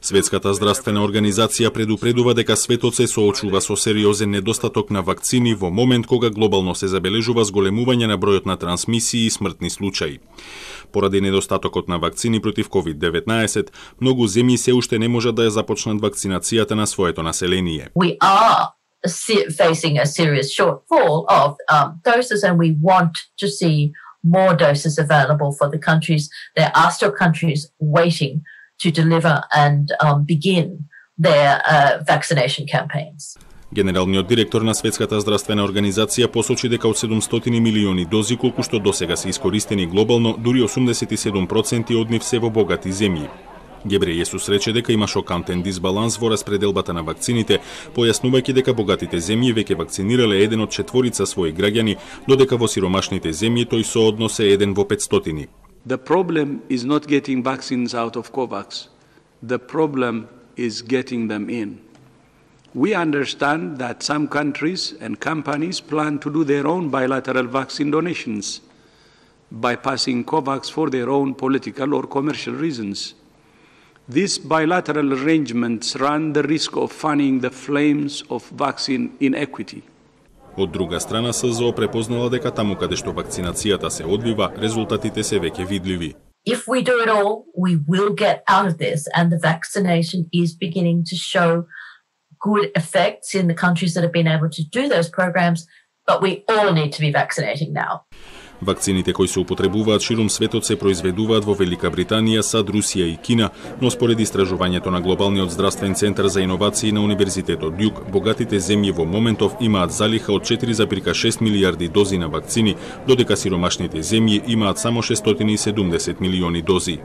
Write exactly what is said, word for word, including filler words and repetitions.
Светската здравствена организација предупредува дека светот се соочува со сериозен недостаток на вакцини во момент кога глобално се забележува зголемување на бројот на трансмисии и смртни случаи. Поради недостатокот на вакцини против ковид деветнаесет, многу земји се уште не можат да ја започнат вакцинацијата на своето население. We are facing a serious shortfall of um, doses, and we want to see more doses available for the countries. There are still countries waiting to deliver and um, begin their uh, vaccination campaigns. Генералниот директор на Светската здравствена организација посочи дека од седумстотини милиони дози колку што досега се искористени глобално, дури осумдесет и седум проценти од нив се во богати земји. Гебрејесус рече дека има шокантен дисбаланс во распределбата на вакцините, појаснувајќи дека богатите земји веќе вакцинирале еден од четворица своји граѓани, додека во сиромашните земји тој сооднос е еден во петстотини. The problem is not getting vaccines out of COVAX. The problem is getting them in. We understand that some countries and companies plan to do their own bilateral vaccine donations, bypassing COVAX for their own political or commercial reasons. These bilateral arrangements run the risk of fanning the flames of vaccine inequity. Од друга страна, СЗО препознала дека таму каде што вакцинацијата се одвива, резултатите се веќе видливи. If we do it all, we will get out of this, and the vaccination is beginning to show good effects in the countries that have been able to do those programs, but we all need to be vaccinating now. Вакцините кои се употребуваат ширум светот се произведуваат во Велика Британија, САД, Русија и Кина, но според истражувањето на Глобалниот здравствен центар за иновации на Универзитетот Дјук, богатите земји во моментов имаат залиха од четири зарез шест милијарди дози на вакцини, додека сиромашните земји имаат само шестстотини и седумдесет милиони дози.